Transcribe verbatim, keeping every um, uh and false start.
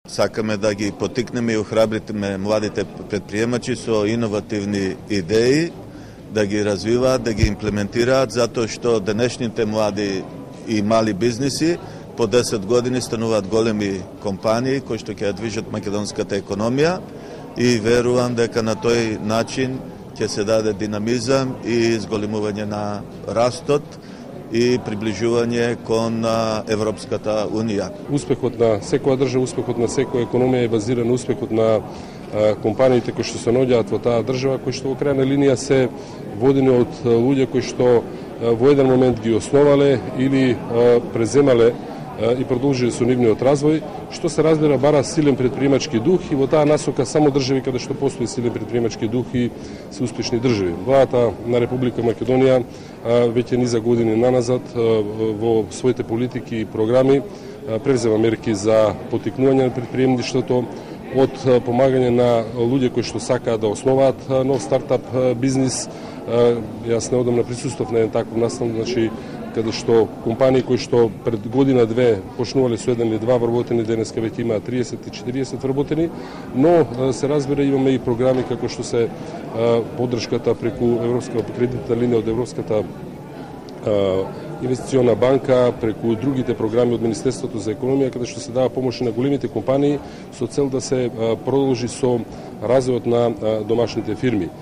Сакаме да ги потикнеме и охрабриме младите предприемачи со иновативни идеи, да ги развиваат, да ги имплементираат, затоа што денешните млади и мали бизниси по десет години стануваат големи компании кои што ќе ја движат македонската економија и верувам дека на тој начин ќе се даде динамизам и зголемување на растот и приближување кон Европската унија. Успехот на секоја држава, успехот на секоја економија е базиран на успехот на компаниите кои што се наоѓаат во таа држава, кои што во крајна линија се водени од луѓе кои што во еден момент ги основале или преземале и продолжиле со нивниот развој, што се разбира бара силен предприемачки дух и во таа насока само држави каде што постои силен предприемачки дух и се успешни држави. Владата на Република Македонија веќе низа години наназад во своите политики и програми превзема мерки за поттикнување на предприемништвото, од помагање на луѓе кои што сакаат да основаат нов стартап бизнис. Јас неодамна присуствав на еден таков настан, значи каде што компании кои што пред година-две почнувале со еден или два вработени, денеска веќе имаат триесет и четириесет вработени, но се разбира имаме и програми како што се поддршката преку Европска кредитна линија од Европската инвестициона банка, преку другите програми од Министерството за економија, каде што се дава помош на големите компании со цел да се продолжи со развојот на домашните фирми.